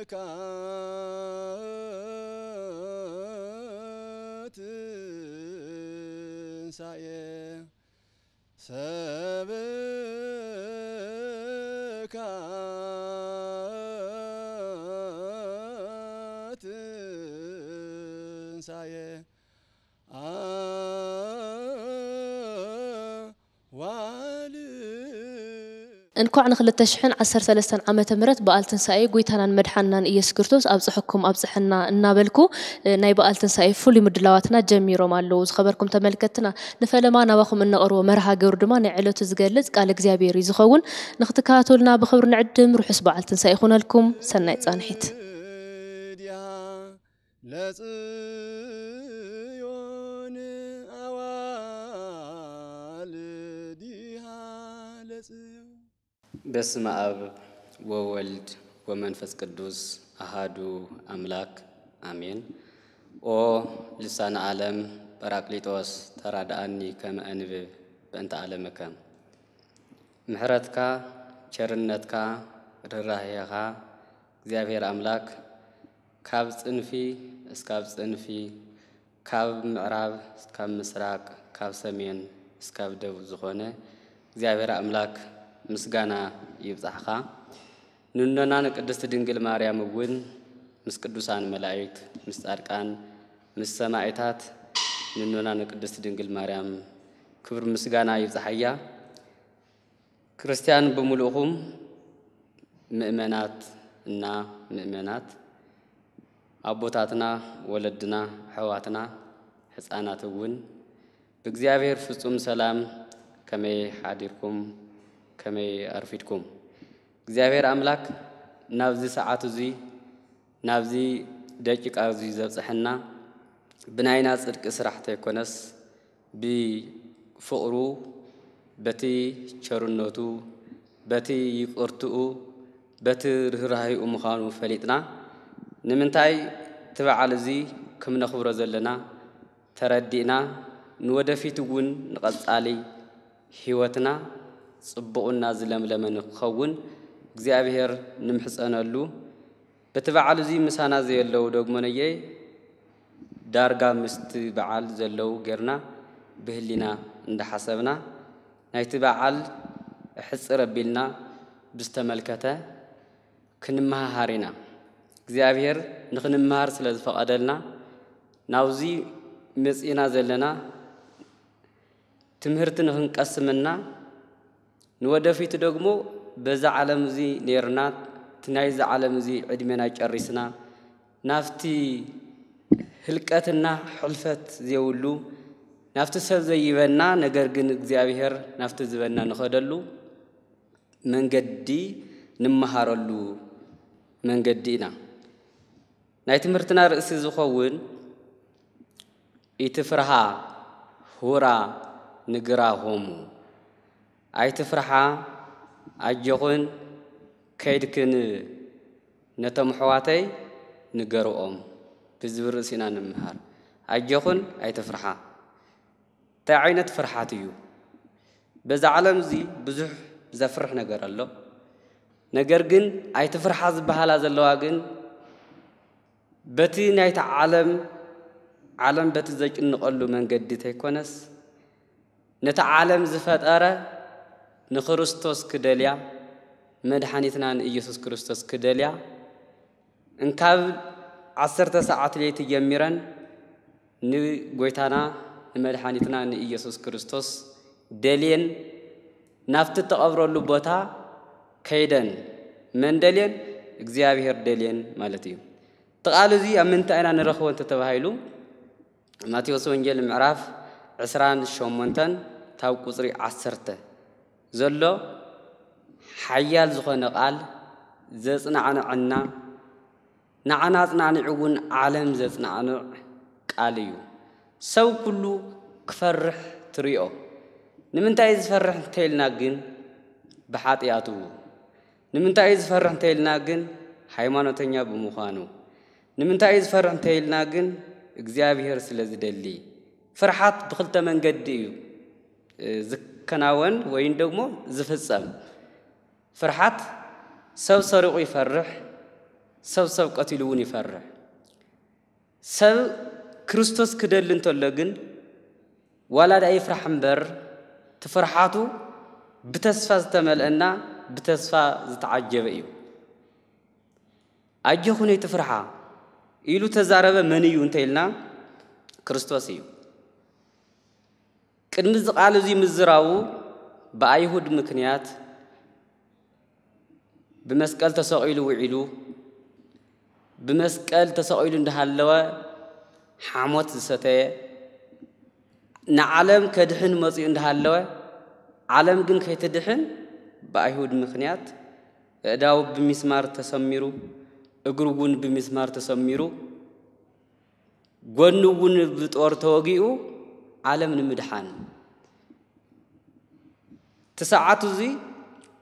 ሰብካ ትንሳኤ ሰብካ ትንሳኤ አዋልድ። እንኳዕ ንክልተ ሽሕን ዓሰርተ ሰለስተን ዓመተ ምህረት በዓል ትንሳኤ ጎይታናን መድሓንናን ኢየሱስ ክርስቶስ ኣብፅሐኩም ኣብፅሐና እናበልኩ፣ እ፣ ናይ በዓል ትንሳኤ ፍሉይ ምድላዋትና ጀሚሮም ኣለዉ። ዝኸበርኩም ተመልከትና፣ ንፈለማ ናባኹም እነቕርቦ መርሃ ግብሪ ድማ ናይ ዕለቱ ዝገልጽ ቃል እግዚኣብሔር እዩ ዝኸውን። ንክትከታተሉና ብኽብሪ ንዕድም። ርሑስ በዓል ትንሳኤ ይኹነልኩም። ሰናይ ጻንሒት። ለጽዮን አዋልዲሃ ለጽዮን። በስመ አብ ወወልድ ወመንፈስ ቅዱስ አሃዱ አምላክ አሜን። ኦ ልሳነ ዓለም ጳራቅሊጦስ ተራድኣኒ ከመ እንብብ በእንተ ዓለምከ። ምሕረትካ፣ ቸርነትካ፣ ርህራሄኻ እግዚኣብሔር ኣምላክ ካብ ጽንፊ እስካብ ጽንፊ፣ ካብ ምዕራብ እስካብ ምስራቅ፣ ካብ ሰሜን እስካብ ደቡብ ዝኾነ እግዚኣብሔር ኣምላክ ምስጋና ይብጻሕኻ። ንኖና ንቅድስት ድንግል ማርያም እውን ምስ ቅዱሳን መላእክት፣ ምስ ጻድቃን፣ ምስ ሰማዕታት ንኖና ንቅድስት ድንግል ማርያም ክብር ምስጋና ይብጻሓያ። ክርስቲያን ብምሉእኹም ምእመናት እና ምእመናት፣ ኣቦታትና፣ ወለድና፣ ኣሕዋትና፣ ሕፃናት እውን ብእግዚኣብሔር ፍጹም ሰላም ከመይ ሓዲርኩም፣ ከመይ ኣርፊድኩም? እግዚኣብሔር ኣምላክ ናብዚ ሰዓት እዙይ፣ ናብዚ ደቂቃ እዙይ ዘብጽሐና ብናይና ጽድቂ ስራሕ ተይኮነስ፣ ብፍቕሩ፣ በቲ ቸርነቱ፣ በቲ ይቕርትኡ፣ በቲ ርህራሄኡ ምዃኑ ፈሊጥና፣ ንምንታይ እቲ በዓል እዚ ከም ነኽብሮ ዘለና ተረዲእና፣ ንወደፊት እውን ንቐጻሊ ህይወትና ጽቡቕና ዝለምለመ ንክኸውን እግዚኣብሔር ንምሕጸነሉ። በቲ በዓል እዚ ምሳና ዘየለዉ ደግሞ ነየ ዳርጋ ምስቲ በዓል ዘለዉ ጌርና ብህሊና እንዳሓሰብና ናይቲ በዓል ሕጽር ኣቢልና ብዝተመልከተ ክንመሃሃር ኢና። እግዚኣብሔር ንኽንመሃር ስለ ዝፈቐደልና ናብዚ መጺእና ዘለና ትምህርቲ ንኽንቀስምና ንወደፊቱ ደግሞ በዛ ዓለም እዚ ኔርና እቲ ናይዚ ዓለም እዚ ዕድሜና ጨሪስና ናብቲ ህልቀትና ሕልፈት ዘይብሉ ናብቲ ሰብ ዘይበና ነገር ግን እግዚኣብሔር ናብቲ ዝበና ንኸደሉ መንገዲ ንመሃረሉ መንገዲ ኢና። ናይ ትምህርትና ርእሲ ዝኸውን ኢትፍርሃ ሁራ ንግራ ሆሙ። ኣይትፍርሓ፣ ኣጆኹን ከይድክን ነቶም ኣሕዋተይ ንገርኦም ብዝብል ርእሲ ኢና ንምሃር። ኣጆኹን ኣይትፍርሓ። እንታይ ዓይነት ፍርሓት እዩ? በዛ ዓለም እዚ ብዙሕ ዘፍርሕ ነገር ኣሎ። ነገር ግን ኣይትፍርሓ ዝበሃላ ዘለዋ ግን በቲ ናይታ ዓለም ዓለም በቲ ዘጭንቐሉ መንገዲ ተይኮነስ ነቲ ዓለም ዝፈጠረ ንክርስቶስ ክደልያ መድሓኒትና ንኢየሱስ ክርስቶስ ክደልያ እንካብ ዓሰርተ ሰዓት ለይቲ ጀሚረን ንጎይታና ንመድሓኒትና ንኢየሱስ ክርስቶስ ደልየን ናብቲ እተቐብረሉ ቦታ ከይደን መን ደልየን እግዚኣብሔር ደልየን ማለት እዩ። እቲ ቃል እዚ ኣብ ምንታይ ኢና ንረኽቦ እንተተባሂሉ ማቴዎስ ወንጌል ምዕራፍ ዕስራን ሸሞንተን ታብ ቁፅሪ ዓሰርተ ዘሎ ሓያል ዝኾነ ቃል ዘፅናዕንዐና ንዓና ኣፅናዕኒዑ እውን ዓለም ዘፅናዕንዕ ቃል እዩ። ሰብ ኩሉ ክፈርሕ ትሪኦ። ንምንታይ እዩ ዝፈርሕ እንተኢልና ግን ብሓጢኣቱ። ንምንታይ እዩ ዝፈርሕ እንተኢልና ግን ሃይማኖተኛ ብምዃኑ። ንምንታይ እዩ ዝፈርሕ እንተኢልና ግን እግዚኣብሔር ስለ ዝደሊ። ፍርሓት ብክልተ መንገዲ እዩ ዝከናወን ወይም ደግሞ ዝፍፀም። ፍርሓት ሰብ ሰሪቑ ይፈርሕ፣ ሰብ ሰብ ቀቲሉ እውን ይፈርሕ። ሰብ ክርስቶስ ክደሊ እንተሎ ግን ዋላ ደኣ ይፍራሕ እምበር፣ እቲ ፍርሓቱ ብተስፋ ዝተመልአና ብተስፋ ዝተዓጀበ እዩ። ኣጆኹን ኣይትፍርሓ ኢሉ ተዛረበ መን እዩ እንተ ኢልና፣ ክርስቶስ እዩ። ቅድሚ እዚ ቃል እዚ ምዝራቡ ብኣይሁድ ምክንያት ብመስቀል ተሰቒሉ ውዒሉ፣ ብመስቀል ተሰቒሉ እንዳሃለወ ሓሞት ዝሰተየ፣ ንዓለም ከድሕን መጺኡ እንዳሃለወ፣ ዓለም ግን ከይትድሕን ብኣይሁድ ምክንያት፣ ኣእዳዉ ብሚስማር ተሰሚሩ፣ እግሩ እውን ብሚስማር ተሰሚሩ፣ ጎኑ እውን ብጦር ተወጊኡ፣ ዓለም ንምድሓን። እቲ ሰዓት እዚ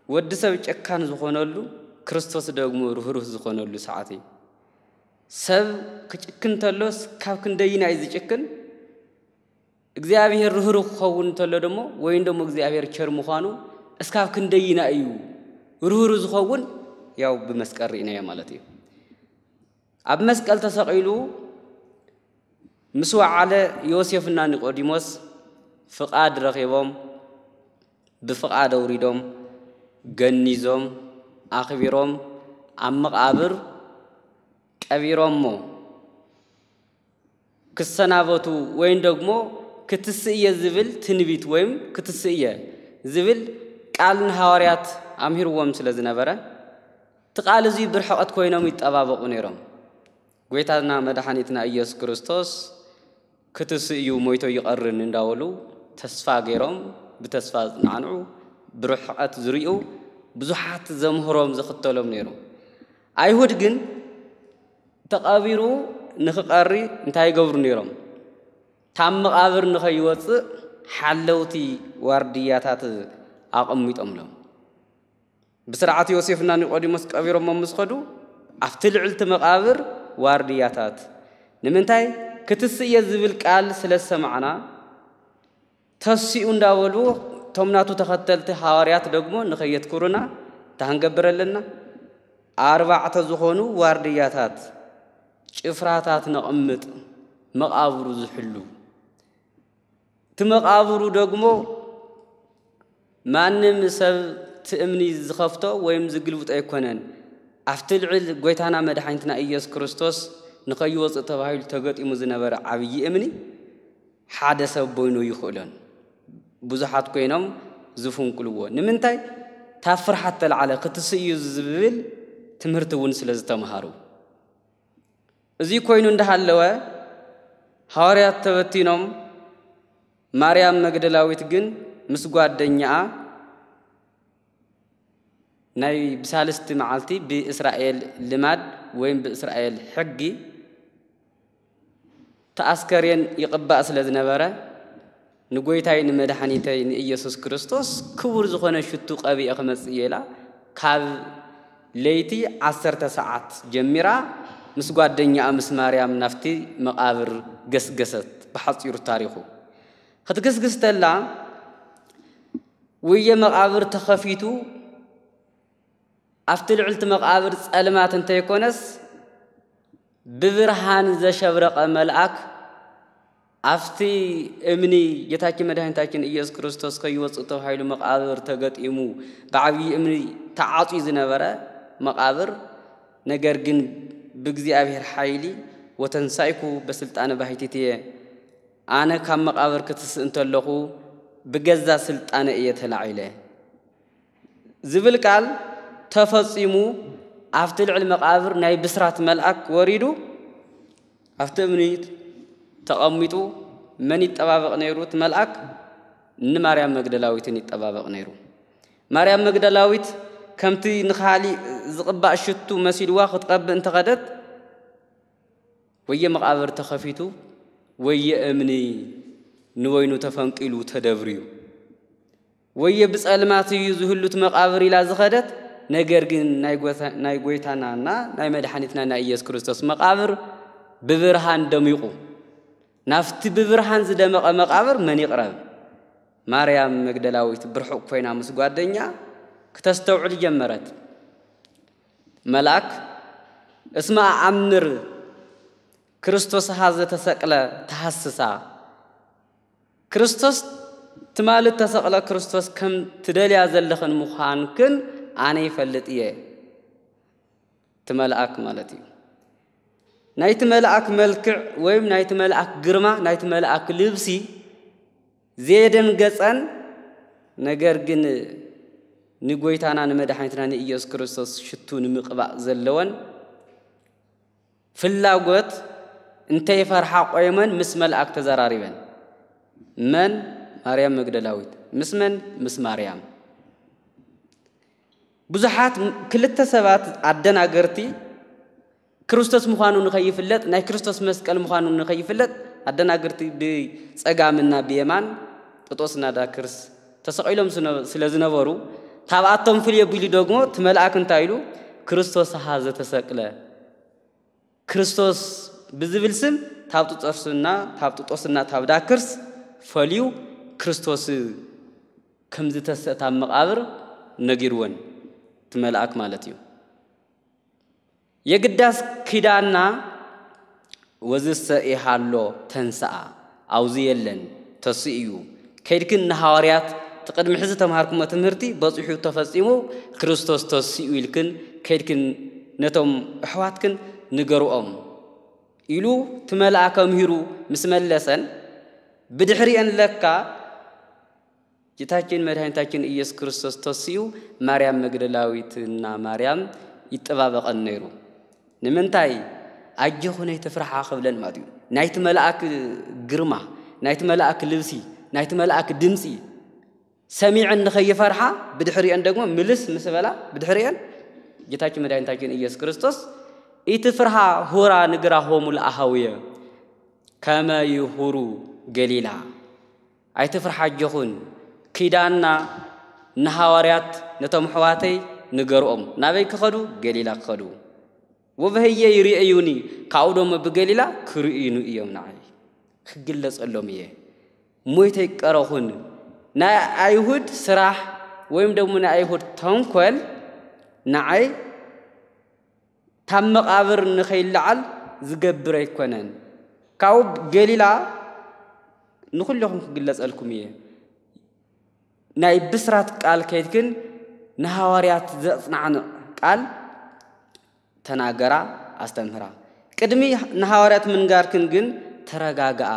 ወዲ ሰብ ጨካን ዝኾነሉ፣ ክርስቶስ ደግሞ ርህሩህ ዝኾነሉ ሰዓት እዩ። ሰብ ክጭክን እንተሎስ ካብ ክንደይና እዩ ዝጭክን? እግዚኣብሔር ርህሩህ ክኸውን እንተሎ ደሞ፣ ወይም ደሞ እግዚኣብሔር ቸር ምዃኑ እስካብ ክንደይና እዩ ርህሩህ ዝኸውን? ያው ብመስቀል ርኢናዮ ማለት እዩ። ኣብ መስቀል ተሰቒሉ ምስ ወዓለ ዮሴፍና ኒቆዲሞስ ፍቓድ ረኺቦም፣ ብፍቓድ ኣውሪዶም፣ ገኒዞም፣ ኣኽቢሮም፣ ኣብ መቓብር ቀቢሮሞ። ክሰናበቱ ወይም ደግሞ ክትስእየ ዝብል ትንቢት ወይም ክትስእየ ዝብል ቃል ንሃዋርያት ኣምሂርዎም ስለ ዝነበረ፣ እቲ ቃል እዚ ብርሕቐት ኮይኖም ይጠባበቑ ነይሮም። ጎይታና መድሓኒትና ኢየሱስ ክርስቶስ ክትስእዩ ሞይቶ ይቐርን እንዳበሉ ተስፋ ገይሮም፣ ብተስፋ ዝጽናዕንዑ፣ ብርሕቐት ዝርእዩ ብዙሓት ዘምህሮም ዝኽተሎም ነይሩ። ኣይሁድ ግን ተቐቢሩ ንኽቐሪ እንታይ ይገብሩ ነይሮም? ካብ መቓብር ንኸይወጽእ ሓለውቲ ዋርድያታት ኣቐሚጦምሎም። ብስርዓት ዮሴፍና ኒቆዲሞስ ቀቢሮሞ ምስ ኸዱ፣ ኣብቲ ልዕልቲ መቓብር ዋርድያታት፣ ንምንታይ? ክትስእየ ዝብል ቃል ስለ ዝሰማዕና፣ ተሲኡ እንዳበሉ፣ እቶም ናቱ ተኸተልቲ ሃዋርያት ደግሞ ንኸየትኩሩና እንታይ ክንገብር ኣለና? ኣርባዕተ ዝኾኑ ዋርድያታት፣ ጭፍራታት ነቕምጥ፣ መቓብሩ ዝሕሉ። እቲ መቓብሩ ደግሞ ማንም ሰብ እቲ እምኒ ዝኸፍቶ ወይም ዝግልብጦ ኣይኮነን። ኣብቲ ልዕል ጎይታና መድሓኒትና ኢየሱስ ክርስቶስ ንኸይወጽእ ተባሂሉ ተገጢሙ ዝነበረ ዓብዪ እምኒ ሓደ ሰብ በይኑ ይኽእሎን። ብዙሓት ኮይኖም ዝፍንቅልዎ። ንምንታይ? ካብ ፍርሓት ተላዕለ ክትስእዩ ዝብል ትምህርቲ እውን ስለ ዝተምሃሩ። እዚ ኮይኑ እንዳሃለወ፣ ሃዋርያት ተበቲኖም፣ ማርያም መግደላዊት ግን ምስ ጓደኛኣ ናይ ብሳልስቲ መዓልቲ ብእስራኤል ልማድ ወይም ብእስራኤል ሕጊ እቲ ኣስከሬን ይቕባእ ስለ ዝነበረ፣ ንጎይታይ ንመድሓኒተይ ንኢየሱስ ክርስቶስ ክቡር ዝኾነ ሽቱ ቀቢአ ክመጽእ እየ ኢላ፣ ካብ ለይቲ ዓሰርተ ሰዓት ጀሚራ ምስ ጓደኛኣ ምስ ማርያም ናብቲ መቓብር ገስገሰት። ብሓጺሩ ታሪኹ ክትግስግስ ተላ፣ ውየ መቓብር ተኸፊቱ፣ ኣብቲ ልዕልቲ መቓብር ጸልማት እንተይኮነስ፣ ብብርሃን ዘሸብረቐ መልኣክ ኣብቲ እምኒ ጌታችን መድኃኒታችን ኢየሱስ ክርስቶስ ከይወጽእ ተባሂሉ መቓብር ተገጢሙ ብዓብዪ እምኒ ተዓጽዩ ዝነበረ መቓብር፣ ነገር ግን ብእግዚኣብሔር ሓይሊ ወተንሳይኩ በስልጣነ ባሕቲትየ፣ ኣነ ካብ መቓብር ክትስእ እንተለኹ ብገዛ ስልጣነ እየ ተላዒለ። ዝብል ቃል ተፈጺሙ ኣብቲ ልዕሊ መቓብር ናይ ብስራት መልኣክ ወሪዱ ኣብቲ እምኒ ተቐሚጡ መን ይጠባበቕ ነይሩ? እቲ መልኣክ ንማርያም መግደላዊትን ይጠባበቕ ነይሩ። ማርያም መግደላዊት ከምቲ ንኻሊእ ዝቕባእ ሽቱ መሲልዋ ክትቐብእ እንተኸደት ወየ መቓብር ተኸፊቱ ወየ እምኒ ንወይኑ ተፈንቂሉ ተደብርዩ። ወየ ብጸልማት እዩ ዝህሉት መቓብር ኢላ ዝኸደት፣ ነገር ግን ናይ ጎይታናና ናይ መድሓኒትና ናይ ኢየሱስ ክርስቶስ መቓብር ብብርሃን ደሚቑ። ናብቲ ብብርሃን ዝደመቐ መቓብር መን ይቕረብ? ማርያም መግደላዊት ብርሑቕ ኮይና ምስ ጓደኛ ክተስተውዕል ጀመረት። መልኣክ እስመ ኣኣምር ክርስቶስ ሀዘ ተሰቅለ ተሐስሳ፣ ክርስቶስ ትማሊ ተሰቕለ ክርስቶስ ከም ትደልያ ዘለኽን ምዃንክን ኣነ ይፈልጥ እየ። እቲ መልኣክ ማለት እዩ። ናይቲ መልኣክ መልክዕ ወይም ናይቲ መልኣክ ግርማ፣ ናይቲ መልኣክ ልብሲ ዘየደንገጸን፣ ነገር ግን ንጎይታና ንመድሓኒትና ንኢየሱስ ክርስቶስ ሽቱ ንምቕባእ ዘለወን ፍላጎት እንተይፈርሓ ቆይመን ምስ መልኣክ ተዘራሪበን። መን? ማርያም መግደላዊት። ምስ መን? ምስ ማርያም። ብዙሓት ክልተ ሰባት ኣደናገርቲ ክርስቶስ ምዃኑ ንኸይፍለጥ፣ ናይ ክርስቶስ መስቀል ምዃኑ ንኸይፍለጥ ኣደናገርቲ ብጸጋምና ብየማን ጥጦስና ዳክርስ ተሰቒሎም ስነ-፣ ስለ ዝነበሩ፣ ካብኣቶም ፍልይ ኣቢሉ ደግሞ እቲ መልኣክ እንታይ ኢሉ? ክርስቶስ ሃ ዘተሰቅለ፣ ክርስቶስ ብዝብል ስም ታብ ጥጦስና፣ ታብ ጥጦስና ታብ ዳክርስ ፈልዩ ክርስቶስ ከም ዝተሰእታ መቓብር ነጊርወን፣ እቲ መልኣክ ማለት እዩ። የግዳስ ኪዳና ወዝሰ ኢሃሎ ተንስኣ፣ ኣውዚ የለን፣ ተስኡ እዩ። ከይድክን ንሃዋርያት፣ እቲ ቅድሚ ሕዚ ተምሃርኩሞ ትምህርቲ በጺሑ ተፈጺሙ፣ ክርስቶስ ተስኡ ኢልክን ከይድክን ነቶም ኣሕዋትክን ንገርኦም ኢሉ እቲ መልኣክ ኣምሂሩ ምስ መለሰን፣ ብድሕሪአን ለካ ጌታችን መድኃኒታችን ኢየሱስ ክርስቶስ ተስኡ ማርያም መግደላዊትና ማርያም ይጠባበቐን ነይሩ። ንምንታይ? ኣጆኹን ኣይትፍርሓ ክብለን ማለት እዩ። ናይቲ መልኣክ ግርማ፣ ናይቲ መልኣክ ልብሲ፣ ናይቲ መልኣክ ድምፂ ሰሚዐን ንኸይፈርሓ፣ ብድሕሪአን ደግሞ ምልስ ምስ በላ፣ ብድሕሪአን ጌታችን መድኃኒታችን ኢየሱስ ክርስቶስ ኢትፍርሃ ሁራ ንግራሆሙ ለአሃውየ ከመ ይሁሩ ገሊላ። ኣይትፍርሓ ኣጆኹን፣ ኪዳንና ንሃዋርያት ነቶም ኣሕዋተይ ንገርኦም። ናበይ ክኸዱ? ገሊላ ክኸዱ። ወበህየ ይርእዩኒ፣ ካብኡ ደሞ ብገሊላ ክርእዩኒ እዮም ንዓይ። ክግለጸሎም እየ። ሞይተ ይቀረኹን። ናይ ኣይሁድ ስራሕ ወይም ደሞ ናይ ኣይሁድ ተንኮል ንዓይ ታብ መቓብር ንኸይለዓል ዝገብር ኣይኮነን። ካብኡ ገሊላ ንኹልኹም ክግለጸልኩም እየ። ናይ ብስራት ቃል ከይድክን ንሃዋርያት ዘጽናዕንዕ ቃል ተናገራ፣ ኣስተምህራ። ቅድሚ ንሃዋርያት ምንጋርክን ግን ተረጋግኣ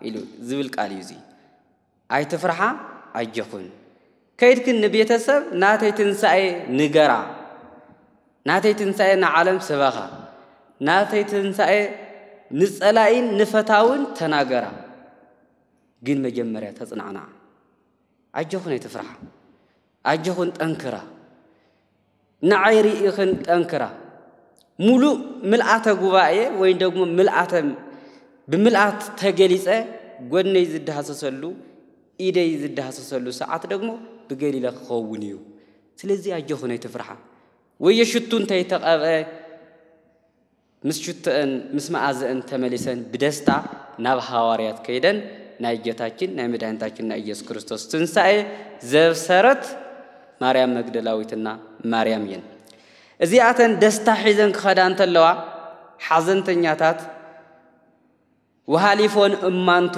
ኢሉ ዝብል ቃል እዩ እዚ። ኣይትፍርሓ፣ ኣጆኹን። ከይድክን ንቤተሰብ ናተይ ትንሳኤ ንገራ። ናተይ ትንሳኤ ንዓለም ስበኻ። ናተይ ትንሳኤ ንጸላኢን ንፈታውን ተናገራ። ግን መጀመርያ ተጽናዕናዓ። ኣጆኹን ኣይትፍርሓ። ኣጆኹን ጠንክራ። ንዓይ ርኢኽን ጠንክራ። ሙሉእ ምልኣተ ጉባኤ ወይ ደግሞ ምልኣተ፣ ብምልኣት ተገሊጸ ጎነይ ዝደሃሰሰሉ፣ ኢደይ ዝደሃሰሰሉ ሰዓት ደግሞ ብገሊላ ክኸውን እዩ። ስለዚ ኣጆኹን ኣይትፍርሓ። ወየ ሽቱ እንተይተቐብአ ምስ ሽቶአን ምስ መኣዘአን ተመሊሰን ብደስታ ናብ ሃዋርያት ከይደን ናይ ጌታችን ናይ መድኃኒታችን ናይ ኢየሱስ ክርስቶስ ትንሳኤ ዘብሰረት ማርያም መግደላዊትና ማርያም እየን። እዚኣተን ደስታ ሒዘን ክኸዳ እንተለዋ ሓዘንተኛታት ወሃሊፎን እማንቱ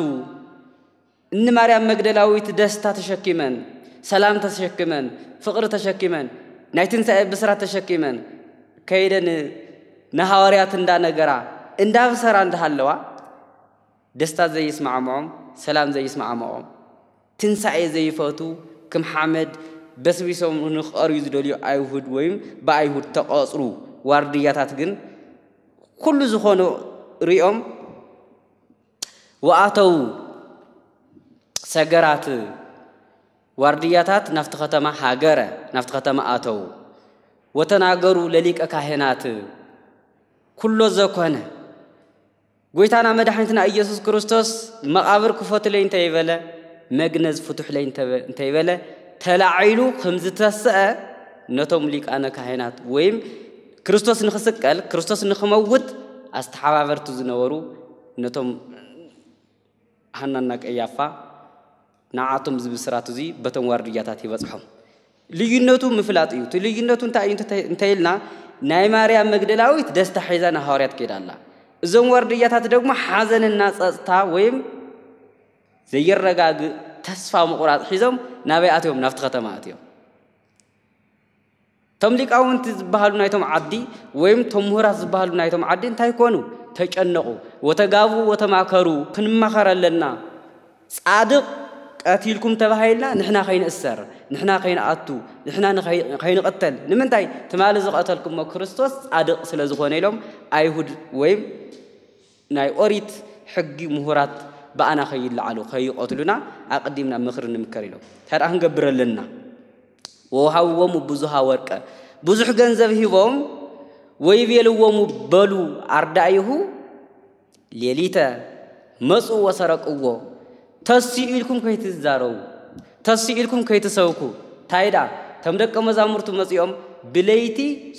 እኒ ማርያም መግደላዊት ደስታ ተሸኪመን፣ ሰላም ተሸኪመን፣ ፍቕሪ ተሸኪመን፣ ናይ ትንሳኤ ብስራት ተሸኪመን ከይደን ንሃዋርያት እንዳነገራ እንዳብሰራ እንዳሃለዋ ደስታ ዘይስማዕምዖም፣ ሰላም ዘይስማዕምዖም፣ ትንሳኤ ዘይፈቱ፣ ከም ሓመድ በስቢሶም ንኽቐርዩ ዝደልዩ ኣይሁድ ወይም ብኣይሁድ ተቐጽሩ ዋርድያታት ግን ኩሉ ዝኾኑ ሪኦም ወኣተው ሰገራት ዋርድያታት ናብቲ ከተማ ሃገረ፣ ናብቲ ከተማ ኣተው። ወተናገሩ ለሊቀ ካህናት ኩሎ ዘኮነ ጎይታና መድሓኒትና ኢየሱስ ክርስቶስ መቓብር ክፈቱለይ እንተይበለ፣ መግነዝ ፍቱሕለይ እንተ-፣ እንተይበለ፣ ተላዒሉ ከም ዝተስአ ነቶም ሊቃነ ካህናት ወይም ክርስቶስ ንኽስቀል፣ ክርስቶስ ንኽመውት ኣስተሓባበርቲ ዝነበሩ ነቶም ሃናና ቀያፋ ንዓቶም እዚ ብስራት እዚ በቶም ዋርድያታት ይበጽሖም። ልዩነቱ ምፍላጥ እዩ። እቲ ልዩነቱ እንታይ እዩ እንተ-፣ እንተ ኢልና፣ ናይ ማርያም መግደላዊት ደስታ ሒዛ ንሃዋርያት ከይዳ ኣላ። እዞም ዋርድያታት ደግሞ ሓዘንና ጸጥታ ወይም ዘይረጋግእ ተስፋ ምቑራጽ ሒዞም ናበይ ኣትዮም? ናብቲ ከተማ ኣትዮም። እቶም ሊቃውንቲ ዝበሃሉ ናይቶም ዓዲ ወይም እቶም ምሁራት ዝበሃሉ ናይቶም ዓዲ እንታይ ኮኑ? ተጨነቑ። "ወተጋቡ ወተማከሩ፣ ክንማኸር ኣለና። ጻድቕ ቀቲልኩም ተባሂልና ንሕና ከይንእሰር፣ ንሕና ከይንኣቱ፣ ንሕና ንኸይ-፣ ከይንቕተል። ንምንታይ? ትማሊ ዝቐተልኩሞ ክርስቶስ ጻድቕ ስለ ዝኾነ" ኢሎም ኣይሁድ ወይም ናይ ኦሪት ሕጊ ምሁራት ብኣና ከይለዓሉ፣ ከይቐትሉና ኣቐዲምና ምኽሪ ንምከር ኢሎም። እንታይ ደኣ ክንገብር ኣለና? "ወወሃብዎሙ ብዙሃ ወርቀ"፣ ብዙሕ ገንዘብ ሂቦም፣ "ወይቤልዎሙ"፣ በሉ፣ "ኣርዳኢሁ ሌሊተ መጹ ወሰረቅዎ"፣ ተስኡ ኢልኩም ከይትዛረቡ፣ ተስኡ ኢልኩም ከይትሰብኩ። እንታይ ደኣ፣ "እቶም ደቀ መዛሙርቱ መጺኦም ብለይቲ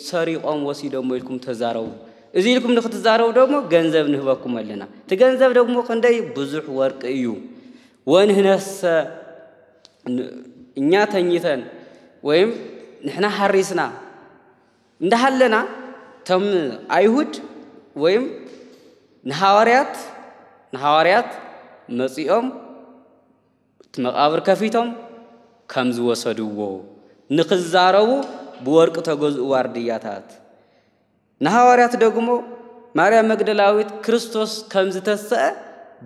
ሰሪቖም ወሲዶሞ" ኢልኩም ተዛረቡ። እዚ ኢልኩም ንክትዛረቡ ደግሞ ገንዘብ ንህበኩም ኣለና። እቲ ገንዘብ ደግሞ ክንደይ ብዙሕ ወርቂ እዩ። "ወንሕነሰ ን-፣ እኛ ተኝተን ወይም ንሕና ሓሪስና እንዳሃለና፣ እቶም ኣይሁድ ወይም ንሃዋርያት፣ ንሃዋርያት መጺኦም እቲ መቓብር ከፊቶም ከም ዝወሰድዎ ንኽዛረቡ ብወርቂ ተገዝኡ ዋርድያታት። ንሃዋርያት ደግሞ ማርያም መግደላዊት ክርስቶስ ከም ዝተሰአ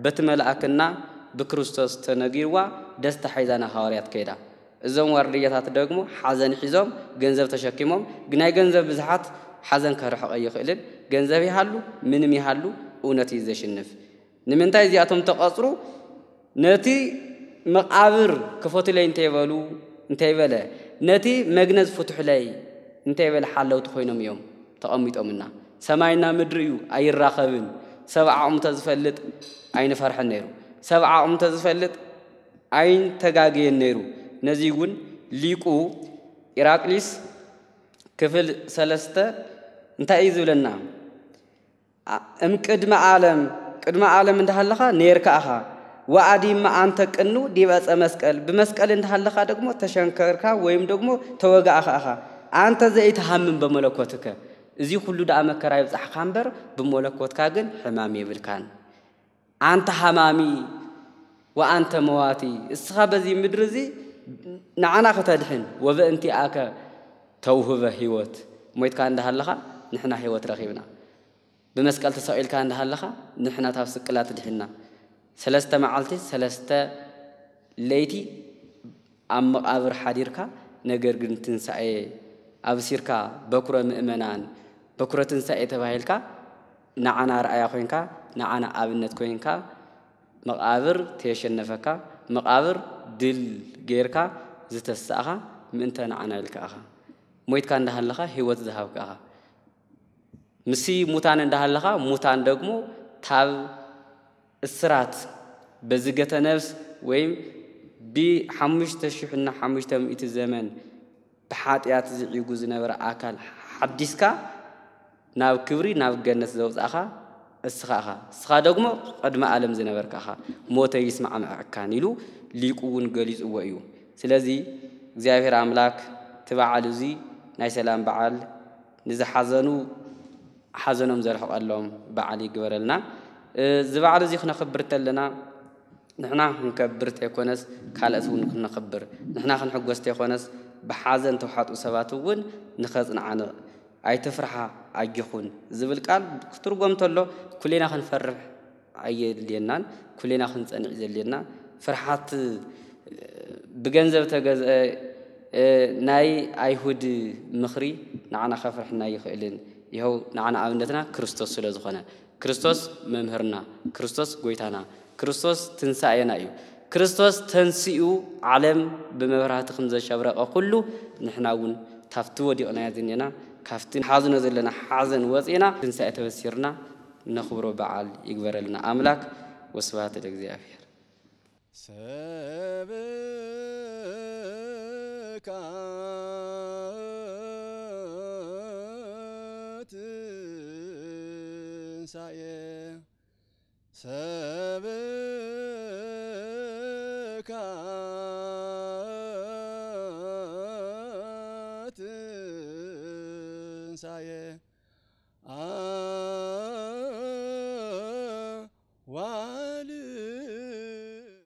በቲ መልኣክና ብክርስቶስ ተነጊርዋ ደስታ ሒዛ ንሃዋርያት ከይዳ። እዞም ዋርድያታት ደግሞ ሓዘን ሒዞም ገንዘብ ተሸኪሞም፣ ግን ናይ ገንዘብ ብዝሓት ሓዘን ከርሕቕ ኣይኽእልን። ገንዘብ ይሃሉ ምንም ይሃሉ እውነት እዩ ዘሽንፍ። ንምንታይ እዚኣቶም ተቐጽሩ? ነቲ መቓብር ክፈቱለይ እንተይበሉ፣ እንተይበለ፣ ነቲ መግነዝ ፍቱሕለይ እንተይበለ ሓለውቲ ኮይኖም እዮም ተቐሚጦምና። ሰማይና ምድሪ እዩ፣ ኣይራኸብን። ሰብ ዓቕሙ ተዝፈልጥ ኣይንፈርሕን ነይሩ። ሰብ ዓቕሙ ተዝፈልጥ ኣይንተጋገየን ነይሩ። ነዚ እውን ሊቁ ኢራቅሊስ ክፍል ሰለስተ እንታይ እዩ ዝብለና? አ-፣ እም ቅድመ ዓለም፣ ቅድመ ዓለም እንዳሃለኻ ነይርካ ኣኻ። ወአዲመ አንተ ቅኑ ዲበ ዕፀ መስቀል፣ ብመስቀል እንዳሃለኻ ደግሞ ተሸንከርካ ወይም ደግሞ ተወጋእኻ ኣኻ። አንተ ዘይትሃምም በመለኮትከ፣ እዚ ኩሉ ደኣ መከራ ይብጻሕካ እምበር ብመለኮትካ ግን ሕማም የብልካን። አንተ ሃማሚ ወአንተ መዋቲ፣ እስኻ በዚ ምድሪ እዚ ንዓና ከተድሕን፣ ወበእንቲአከ ተውህበ ህይወት፣ ሞይትካ እንዳሃለኻ ንሕና ህይወት ረኺብና። ብመስቀል ተሰቒልካ እንዳሃለኻ ንሕና ታብ ስቅላት ድሒንና። ሰለስተ መዓልቲ ሰለስተ ለይቲ ኣብ መቓብር ሓዲርካ፣ ነገር ግን ትንሳኤ ኣብሲርካ፣ በኩረ ምእመናን፣ በኩረ ትንሳኤ ተባሂልካ፣ ንዓና ኣርኣያ ኮይንካ፣ ንዓና ኣብነት ኮይንካ፣ መቓብር ተየሸነፈካ፣ መቓብር ድል ጌርካ ዝተሳእኻ ምእንተ ንዓና ኢልካ ኢኻ። ሞይትካ እንዳሃለኻ ህይወት ዝሃብካ ኢኻ። ምስዚ ሙታን እንዳሃለኻ፣ ሙታን ደግሞ ታብ እስራት በዝገተ ነፍስ ወይም ብሓሙሽተ ሽሕና ሓሙሽተ ሚእቲ ዘመን ብሓጢኣት ዝዒጉ ዝነበረ ኣካል ሓዲስካ ናብ ክብሪ፣ ናብ ገነት ዘውጻእኻ እስኻ ኢኻ። እስኻ ደግሞ ቅድሚ ዓለም ዝነበርካ ኢኻ። "ሞተ ይስማዕ ምዕካን" ኢሉ ሊቁ እውን ገሊጽዎ እዩ። ስለዚ እግዚኣብሔር ኣምላክ እቲ በዓል እዚ ናይ ሰላም በዓል ንዝሓዘኑ ሓዘኖም ዘርሕቐሎም በዓል ይግበረልና። እዚ በዓል እዚ ክነኽብር ተለና ንሕና ክንከብር ተይኮነስ ካልኦት እውን ክነኽብር፣ ንሕና ክንሕጎስ ተይኮነስ ብሓዘን ተውሓጡ ሰባት እውን ንኸጽንዓንቕ፣ "ኣይትፍርሓ ኣጆኹን" ዝብል ቃል ክትርጎም ተሎ ኩሌና ክንፈርሕ ኣየድልየናን፣ ኩሌና ክንጸንዕ ዘድልየና። ፍርሓት ብገንዘብ ተገዝአ፣ እ፣ ናይ ኣይሁድ ምኽሪ ንዓና ከፍርሕና ኣይኽእልን። ይኸው ንዓና ኣብነትና ክርስቶስ ስለ ዝኾነ፣ ክርስቶስ መምህርና፣ ክርስቶስ ጎይታና፣ ክርስቶስ ትንሳኤና እዩ። ክርስቶስ ተንሲኡ ዓለም ብመብራህቲ ከም ዘሸብረቐ ኩሉ፣ ንሕና እውን ካብቲ ወዲቕናዮ ዝኔና፣ ካብቲ ንሓዝኖ ዘለና ሓዘን ወፂና፣ ትንሳኤ ተበሲርና ነኽብሮ በዓል ይግበረልና ኣምላክ። ወስብሐት ለእግዚኣብሔር። ሰብካ ትንሳኤ፣ ሰብካ ጌታዬ። አ